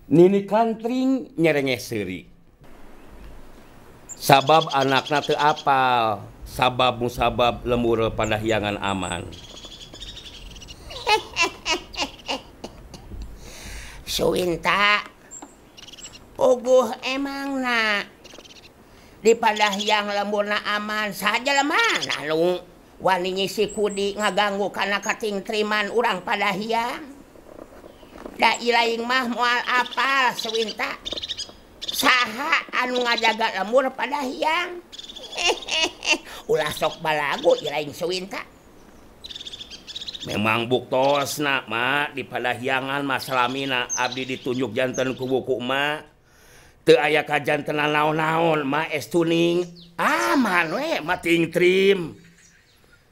Nini Kantring nyerengeh seuri. Sabab anakna teu apal, sabab musabab lembur Padahyangan aman. Suwinta puguh emangna di Padahyang lemburna aman saja lemah anu wani nyisi kudi ngaganggu kana katingtriman urang Padahyang. Da ilaing mah moal apal Suwinta saha anu ngajaga lembur Padahyang. Ulah sok balagu ilaing Suwinta. Memang buktosna mak di Padahyangan mah salamina abdi ditunjuk janten ku buku emak. Teu aya kajantenan naon-naon mak estuning aman we mah tingtrim.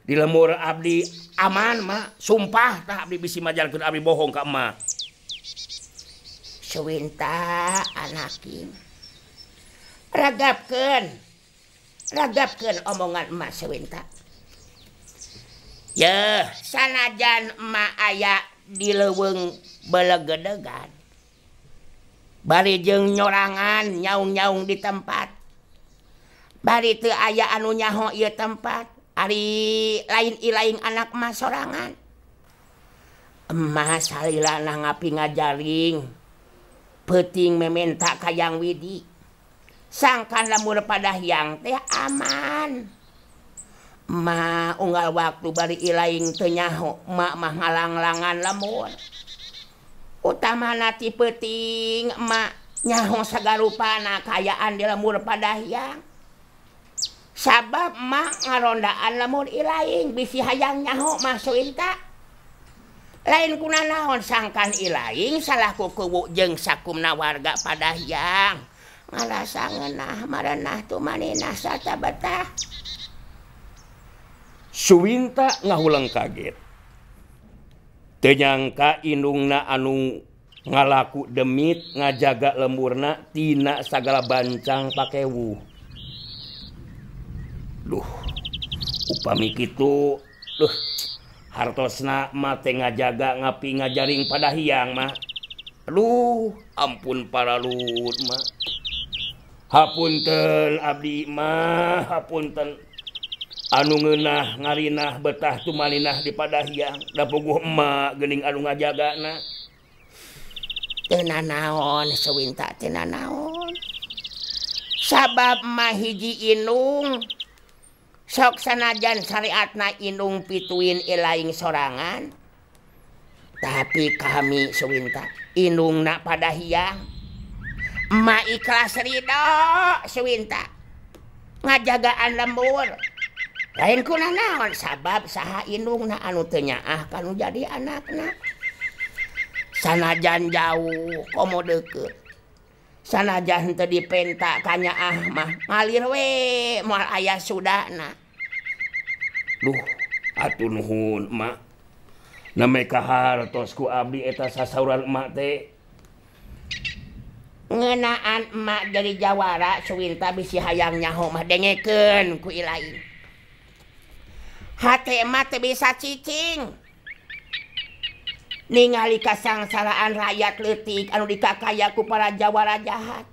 Di lembur abdi aman mak, sumpah tah abdi bisi majalkeun abdi bohong ka emak. Suwinta anakin. Ragapkeun. Ragapkeun omongan emak Suwinta. Yeuh, sanajan emak aya di leuweung belegedegan. Bari jeung nyorangan nyaung-nyaung di tempat. Bari teu aya anu nyaho ieu tempat. Ari lain ilaing anak emak sorangan. Emak salilana ngapi ngajaring. Peuting mementa ka Yang Widi. Sangkan lembur Padahyang teh aman. Emak unggal waktu bari ilaing teu nyaho, emak mah ngalanglangan lembur. Utamana ti peuting emak nyaho sagarupana kaayaan di lembur Padahyang. Sabab emak ngarondaan lembur ilaing bisi hayang nyaho mah Suwinta. Lain kuna naon sangkan ilaing salaku kuwu jeung sakumna warga Padahyang. Ngarasa ngeunah marenah tumaninah sarta betah. Suwinta ngahuleng kaget. Teu nyangka indungna anu ngalaku demit ngajaga lemburna tina sagala bancang pakewuh. Duh, upami kitu, duh, hartosna mah teh ngajaga ngapi ngajaring Padahyang mah. Aduh, ampun paralut mah. Hapunten abdi mah, hapunten. Anu ngeunah ngarinah betah tumaninah di Padahyang, da puguh emak geuning anu ngajagana. Teu nanaon Suwinta, teu nanaon. Sabab mah hiji indung sok sanajan syariatna indung pituin ilaing sorangan. Tapi kami Suwinta indungna Padahyang. Emak ikhlas ridho Suwinta ngajagaan lembur. Lain kuna naon sabab saha indungna anu teu nyaah kanu jadi anakna. Sanajan jauh komo deukeut. Sanajan teu dipenta ka nyaah mah ngalir we moal aya sudana. Duh, atuh nuhun emak. Name kahartos ku abdi eta sasauran emak teh. Ngeunaan emak jadi jawara Suwinta bisi hayang nyaho mah dengekeun ku ilaing. Hate emak teu bisa cicing. Ningali kasangsaraan rakyat leutik anu dikakaya ku para jawara jahat.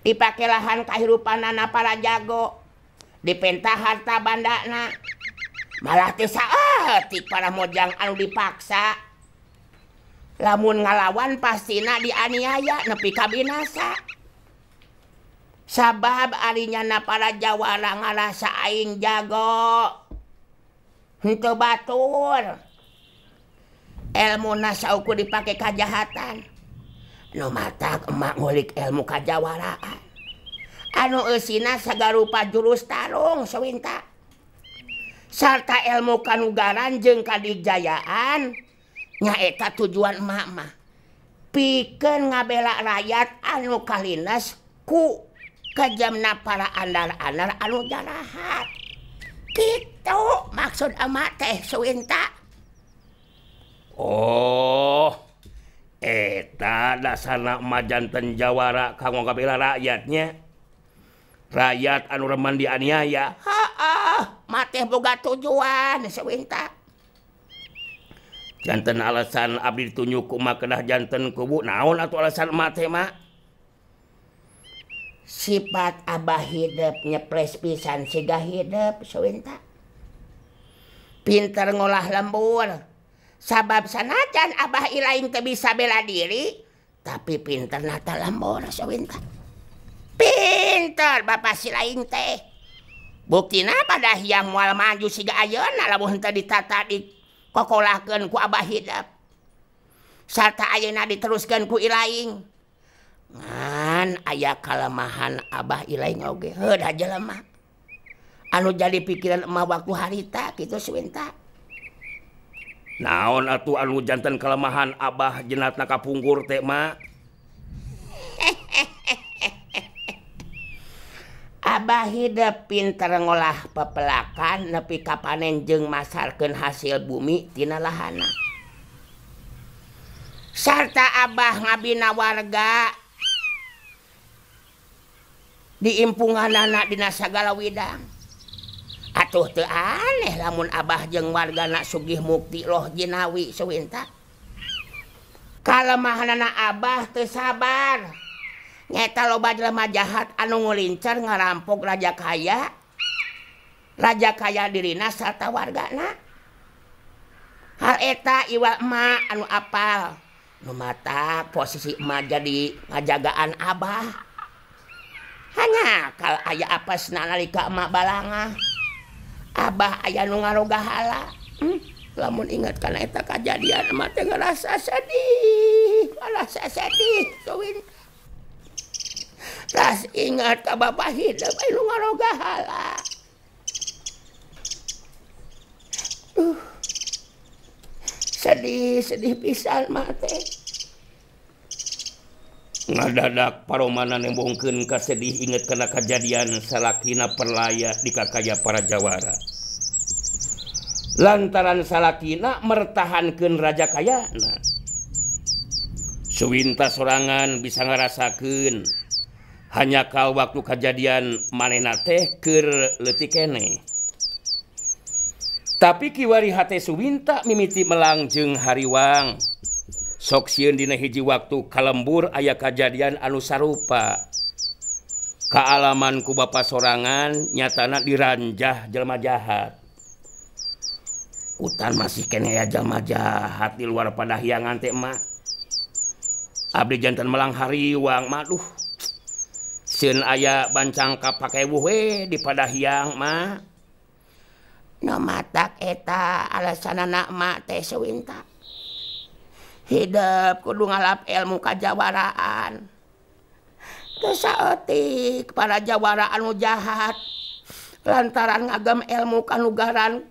Dipake lahan kahirupanana para jago. Dipenta harta bandana. Malah teu saeutik para mojang anu dipaksa. Lamun ngalawan pastina dianiaya nepi ka binasa. Sabab ari nyana para jawara ngarasa aing jago. Henteu batur. Elmuna saukur dipake kajahatan. Nu matak emak ngulik ilmu kajawaraan. Anu eusina sagarupa jurus tarung Suwinta. Sarta ilmu kanugaran jeung kadijayaan nyaeta tujuan emak mah. Pikeun ngabela rakyat anu kalines ku kejamna para andar-andar anu jarahat. Kitu maksud emak teh Suwinta. Oh, eta dasarna emak janten jawara kanggo ngabela rakyatnya. Rakyat anu remen dianiaya. Heeh, mah teh boga tujuan Suwinta. Janten alasan abdi ditunjuk ku emak kedah janten kubu naon atuh alasan emak teh mak? Sifat abah hidup nyepres pisan siga hidup Suwinta. Pinter ngolah lembur. Sabab sanajan abah ilaing teu bisa bela diri, tapi pinter nata lembur Suwinta. Pinter bapak si laing teh. Buktina pada hiang moal maju siga ayeuna lamun henteu ditata di kokolahkeun ku abah hidup. Sarta ayeuna diteruskeun ku ilaing. Ngan aya kalemahan abah ilaing oge heuh da jelema. Anu jadi pikiran emak waktu harita kitu Suwinta. Naon atuh anu janten kelemahan abah jenatna kapungkur teh mak? Abah hidup pinter ngolah pepelakan nepi ka panen jeung masarkeun hasil bumi tina lahana. Sarta abah ngabina warga diimpunganana dina sagala widang. Atuh teu aneh lamun abah jeung wargana sugih mukti loh jinawi Suwinta. Kalemahanana abah teu sabar. Nyeta loba jelema jahat anu ngulincer ngarampok raja kaya. Raja kaya dirina sarta wargana. Hal eta iwal emak anu apal. Nu matak posisi emak jadi ngajagaan abah. Hanya kal aya apesna nalika emak balangah. Abah aya nu ngarogahala. Lamun ingat kana eta kajadian emak teh ngarasa sedih, ngarasa sedih Suwinta. Ras ingat ka bapak hidup anu ngarogahala. Sedih, sedih pisan mah teh. Ngadadak paromana nembongkeun kasedih inget kana kajadian salakina perlaya di kakaya para jawara. Lantaran salakina mertahankeun raja kayana. Suwinta sorangan bisa ngarasakeun hanya kal waktu kajadian manehna teh keur leutik keneh. Tapi kiwari hate Suwinta mimiti melang jeung hariwang. Sok sieun dina hiji waktu kalembur aya kajadian anu sarupa. Kaalaman ku bapa sorangan nyatana diranjah jelema jahat. Kutan masih keneh aya jelema jahat di luar padahyangan teh emak. Abdi janten melang hariwang mah duh. Sieun aya bancang kapakewuh we di padahyang mah. Nu matak eta alasanana emak teh Suwinta. Hidup kudu ngalap ilmu kajawaraan. Teu saeutik para jawara anu jahat lantaran ngagem ilmu kanugaran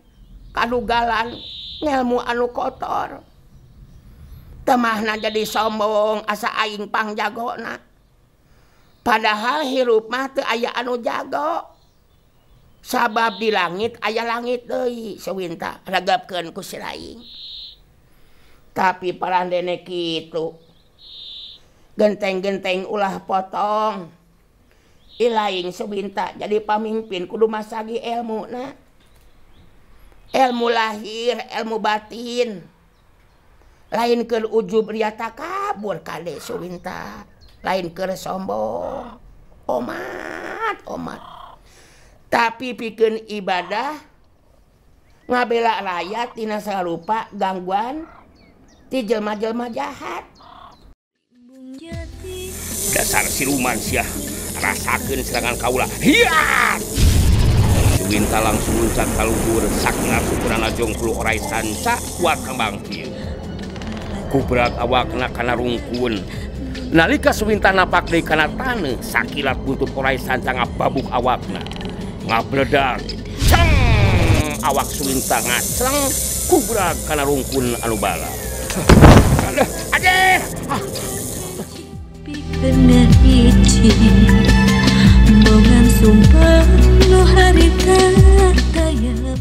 kanugalan ngelmu anu kotor. Temahna jadi sombong asa aing pangjagona. Padahal hirup mah teu aya anu jago. Sabab di langit aya langit deui Suwinta regepkeun ku si laing. Tapi parandene kitu. Genteng-genteng ulah potong. Ilaing Suwinta jadi pamimpin kudu masagi ilmuna. Ilmu lahir, ilmu batin. Lain keur ujub ria takabur kade Suwinta. Lain keur sombong. Omat, omat. Tapi pikeun ibadah ngabela rakyat tina sarupa gangguan ti jelma-jelma jahat. Dasar siluman sia, rasakeun serangan kaula. Hiat! Suwinta langsung luncat ka luhur, sakna sukurana jongklu orai sanca kuat kembang kieu. Kubrak awakna kana rungkun. Nalika Suwinta napak deui kana taneuh, sakilat buntut orai sanca ngababuk awakna. Ngabledag. Ceng! Awak Suwinta ngacleng kubrak kana rungkun anu bala. Aduh! Pikeun hiji bongan sumpah nu harita taya.